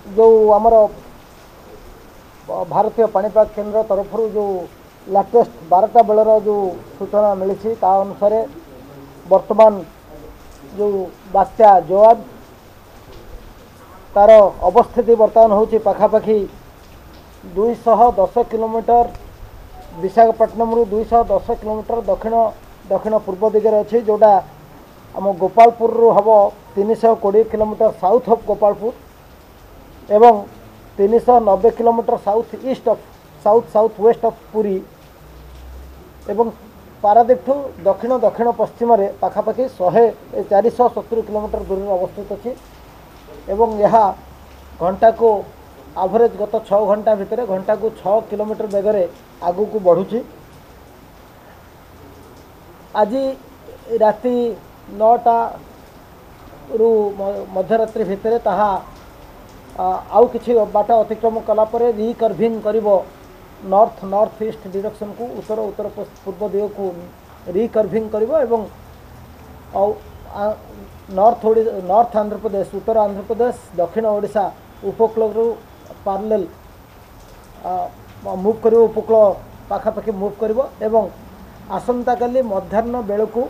ଯେଉଁ ଆମର ଭାରତୀୟ ପାଣିପାଗ କେନ୍ଦ୍ର ତରଫରୁ ଯେଉଁ ଲାଟେଷ୍ଟ 12ଟା ବେଳର ଯେଉଁ ସୂଚନା ମିଳିଛି ତା ଅନୁସାରେ ବର୍ତ୍ତମାନ ଯେଉଁ ବାତ୍ୟା ଜୱାଦ ତାର ଅବସ୍ଥିତି ବର୍ତ୍ତମାନ ହେଉଛି ପାଖାପାଖି 210 କିଲୋମିଟର ବିଶାଖାପଟ୍ଟନମରୁ 210 କିଲୋମିଟର ଦକ୍ଷିଣ ଦକ୍ଷିଣ ପୂର୍ବ ଦିଗରେ ଅଛି, ଯେଉଁଟା ଆମ ଗୋପାଳପୁରରୁ ହେବ 320 କିଲୋମିଟର ସାଉଥ୍ ଅଫ୍ ଗୋପାଳପୁର ଏବଂ 390 kilometre south east of south south west of Puri ଏବଂ ପାରାଦ୍ୱୀପଠୁ ଦକ୍ଷିଣ ଦକ୍ଷିଣ ପଶ୍ଚିମରେ ପାଖାପାଖି 470 କିଲୋମିଟର ଦୂରରେ ଅବସ୍ଥିତ ଅଛି। ଏବଂ ଏହା ଘଣ୍ଟାକୁ ଆଭରେଜ୍ ଗତ 6 ଘଣ୍ଟା ଭିତରେ ଘଣ୍ଟାକୁ 6 କିଲୋମିଟର ବେଗରେ ଆଗକୁ ବଢ଼ୁଛି। ଆଜି ରାତି 9ଟାରୁ ମଧ୍ୟରାତ୍ରି ଭିତରେ ତାହା ଆଉ କିଛି ବାଟ ଅତିକ୍ରମ କଲା ପରେ ରିକର୍ଭିଂ କରିବ ନର୍ଥ ନର୍ଥ ଇଷ୍ଟ ଡିରେକ୍ସନକୁ, ଉତ୍ତର ଉତ୍ତର ପୂର୍ବ ଦିଗକୁ ରିକର୍ଭିଂ କରିବ ଏବଂ ଆଉ ନର୍ଥ ନର୍ଥ ଆନ୍ଧ୍ରପ୍ରଦେଶ, ଉତ୍ତର ଆନ୍ଧ୍ରପ୍ରଦେଶ, ଦକ୍ଷିଣ ଓଡ଼ିଶା ଉପକୂଳରୁ ପାରାଲେଲ୍ ମୁଭ୍ କରିବ, ଉପକୂଳ ପାଖାପାଖି ମୁଭ୍ କରିବ ଏବଂ ଆସନ୍ତାକାଲି ମଧ୍ୟାହ୍ନ ବେଳକୁ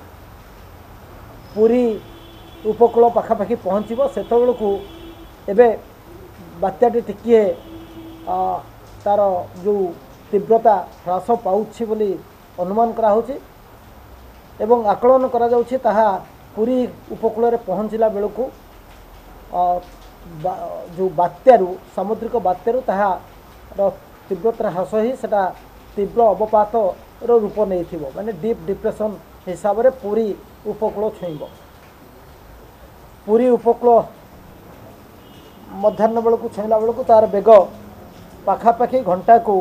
ପୁରୀ ଉପକୂଳ ପାଖାପାଖି ପହଞ୍ଚିବ। ସେତେବେଳକୁ ଏବେ ବାତ୍ୟାଟି ଟିକିଏ ତାର ଯେଉଁ ତୀବ୍ରତା ହ୍ରାସ ପାଉଛି ବୋଲି ଅନୁମାନ କରାହେଉଛି ଏବଂ ଆକଳନ କରାଯାଉଛି ତାହା ପୁରୀ ଉପକୂଳରେ ପହଞ୍ଚିଲା ବେଳକୁ ଯେଉଁ ବାତ୍ୟାରୁ ସାମୁଦ୍ରିକ ବାତ୍ୟାରୁ ତାହାର ତୀବ୍ରତା ହ୍ରାସ ହୋଇ ସେଟା ତୀବ୍ର ଅବପାତର ରୂପ ନେଇଥିବ, ମାନେ ଡିପ୍ ଡିପ୍ରେସନ୍ ହିସାବରେ ପୁରୀ ଉପକୂଳ ଛୁଇଁବ। ପୁରୀ ଉପକୂଳ ମଧ୍ୟାହ୍ନ ବେଳକୁ ଛୁଇଁଲା ବେଳକୁ ତାର ବେଗ ପାଖାପାଖି ଘଣ୍ଟାକୁ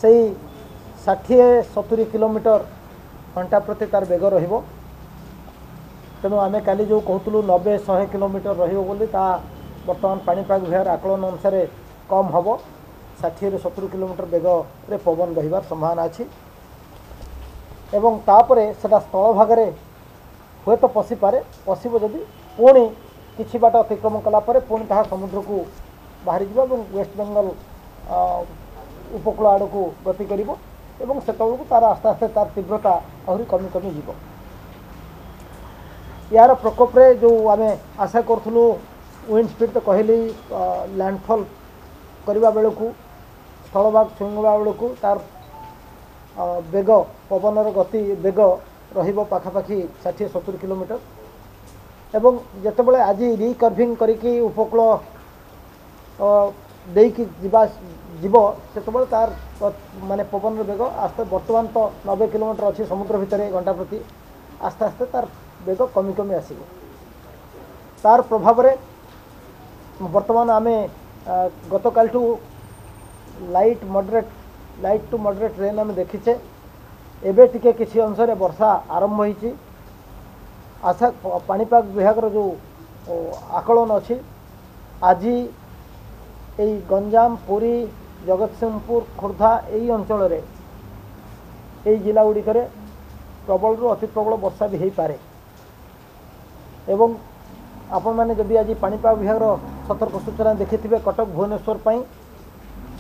ସେଇ 60-70 କିଲୋମିଟର ଘଣ୍ଟା ପ୍ରତି ତାର ବେଗ ରହିବ। ତେଣୁ ଆମେ କାଲି ଯେଉଁ କହୁଥିଲୁ 90-100 କିଲୋମିଟର ରହିବ ବୋଲି, ତା ବର୍ତ୍ତମାନ ପାଣିପାଗ ବିଭାଗର ଆକଳନ ଅନୁସାରେ କମ୍ ହେବ। 60ରୁ 70 କିଲୋମିଟର ବେଗରେ ପବନ ବହିବାର ସମ୍ଭାବନା ଅଛି ଏବଂ ତାପରେ ସେଟା ସ୍ଥଳଭାଗରେ ହୁଏତ ପଶିପାରେ। ପଶିବ ଯଦି ପୁଣି କିଛି ବାଟ ଅତିକ୍ରମ କଲା ପରେ ପୁଣି ତାହା ସମୁଦ୍ରକୁ ବାହାରିଯିବ ଏବଂ ୱେଷ୍ଟବେଙ୍ଗଲ ଉପକୂଳ ଆଡ଼କୁ ଗତି କରିବ ଏବଂ ସେତେବେଳକୁ ତାର ଆସ୍ତେ ଆସ୍ତେ ତାର ତୀବ୍ରତା ଆହୁରି କମି କମି ଯିବ। ୟାର ପ୍ରକୋପରେ ଯେଉଁ ଆମେ ଆଶା କରୁଥିଲୁ ୱିଣ୍ଡ ସ୍ପିଡ଼ ତ କହିଲି, ଲ୍ୟାଣ୍ଡଫଲ୍ କରିବା ବେଳକୁ ସ୍ଥଳଭାଗ ଛୁଇଁବା ବେଳକୁ ତାର ବେଗ, ପବନର ଗତି ବେଗ ରହିବ ପାଖାପାଖି 60-70 କିଲୋମିଟର ଏବଂ ଯେତେବେଳେ ଆଜି ରିକର୍ଭିଂ କରିକି ଉପକୂଳ ଦେଇକି ଯିବ ସେତେବେଳେ ତାର ମାନେ ପବନର ବେଗ ଆସ୍ତେ, ବର୍ତ୍ତମାନ ତ 90 କିଲୋମିଟର ଅଛି ସମୁଦ୍ର ଭିତରେ ଘଣ୍ଟା ପ୍ରତି, ଆସ୍ତେ ଆସ୍ତେ ତାର ବେଗ କମି କମି ଆସିବ। ତାର ପ୍ରଭାବରେ ବର୍ତ୍ତମାନ ଆମେ ଗତକାଲିଠୁ light moderate, light to moderate rain ଆମେ ଦେଖିଛେ। ଏବେ ଟିକେ କିଛି ଅଂଶରେ ବର୍ଷା ଆରମ୍ଭ ହୋଇଛି। ଆଶା ପାଣିପାଗ ବିଭାଗର ଯେଉଁ ଆକଳନ ଅଛି, ଆଜି ଏଇ ଗଞ୍ଜାମ, ପୁରୀ, ଜଗତସିଂହପୁର, ଖୋର୍ଦ୍ଧା ଏଇ ଅଞ୍ଚଳରେ, ଏଇ ଜିଲ୍ଲା ଗୁଡ଼ିକରେ ପ୍ରବଳରୁ ଅତି ପ୍ରବଳ ବର୍ଷା ବି ହୋଇପାରେ। ଏବଂ ଆପଣମାନେ ଯଦି ଆଜି ପାଣିପାଗ ବିଭାଗର ସତର୍କ ସୂଚନା ଦେଖିଥିବେ କଟକ ଭୁବନେଶ୍ୱର ପାଇଁ,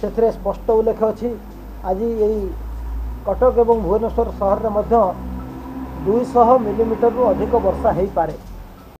ସେଥିରେ ସ୍ପଷ୍ଟ ଉଲ୍ଲେଖ ଅଛି ଆଜି ଏଇ କଟକ ଏବଂ ଭୁବନେଶ୍ୱର ସହରରେ ମଧ୍ୟ 200 ମିଲିମିଟରରୁ ଅଧିକ ବର୍ଷା ହୋଇପାରେ।